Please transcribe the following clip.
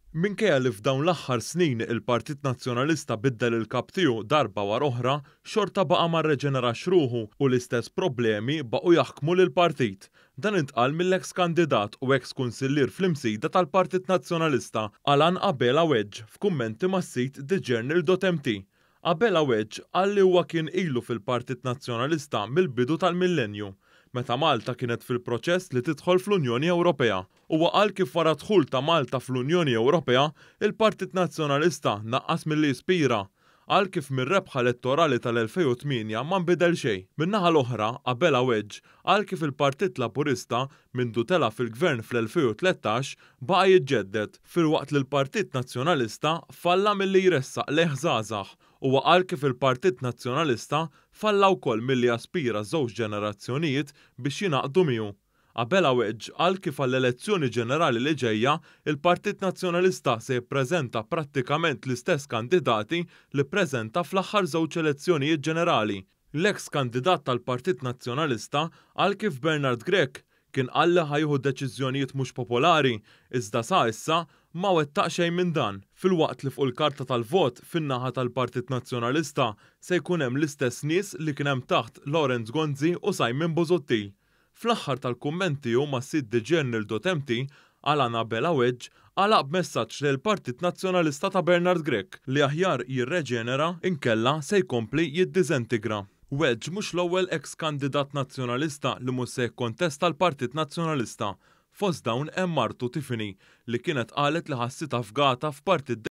Minkejja li f'dawn l-aħħar snin il-Partit Nazzjonalista biddel il-kap tiegħu darba wara oħra, xorta baqa' ma rreġenerax ruħu u l-istess problemi baqgħu jaħkmu lill-partit. Dan intqal mill-eks kandidat u eks kunsillier fl-Imsida tal-Partit Nazzjonalista, Alan Abela Wedge, f'kummenti mas-sit thejournal.mt. Abela Wedge qal li huwa kien ilu fil-Partit Nazzjonalista mill-bidu tal-millenju, meta Malta kienet fil-proċess li tidħol fl-Unjoni Ewropea. Huwa qal kif wara d-dħul ta' Malta fl-Unjoni Ewropea, il-Partit Nazzjonalista naqqas milli jispira. Qal kif mir-rebħa elettorali tal-2008 ma nbidel xejn. Min-naħa l-oħra, Abela Wedge qal kif il-Partit Laburista mindu tela' fil-Gvern fl-2013 baqa' jiġġedded, filwaqt li l-Partit Nazzjonalista falla milli jressaq lejh żgħażagħ. Huwa qal kif il-Partit Nazzjonalista falla wkoll milli jaspira żewġ ġenerazzjonijiet biex jingħaqdu miegħu. Abela Wedge qal kif għall-elezzjoni ġenerali li ġejja, il-Partit Nazzjonalista se jippreżenta prattikament l-istess kandidati li ppreżenta fl-aħħar żewġ elezzjonijiet ġenerali. L-eks kandidat tal-Partit Nazzjonalista qal kif Bernard Grech kien qal li ħa jieħu deċiżjonijiet mhux popolari, iżda sa issa ma wettaq xejn minn dan. Filwaqt li fuq il-karta tal-vot fin-naħa tal-Partit Nazzjonalista se jkun hemm l-istess nies li kien hemm taħt Lawrence Gonzi u Simon Busuttil. Fl-aħħar tal-kumment tiegħu mas-sit thejournal.mt, Alan Abela Wedge għalaq b'messaġġ lejn il-Partit Nazzjonalista ta' Bernard Grech li aħjar jirreġenera inkella se jkompli jiddiżintegra. Wedge mhux l-ewwel eks kandidat nazzjonalista li mhux se jikkontesta l-Partit Nazzjonalista. Fost dawn hemm martu Tiffany li kienet qalet li ħassitha fgata f'partit.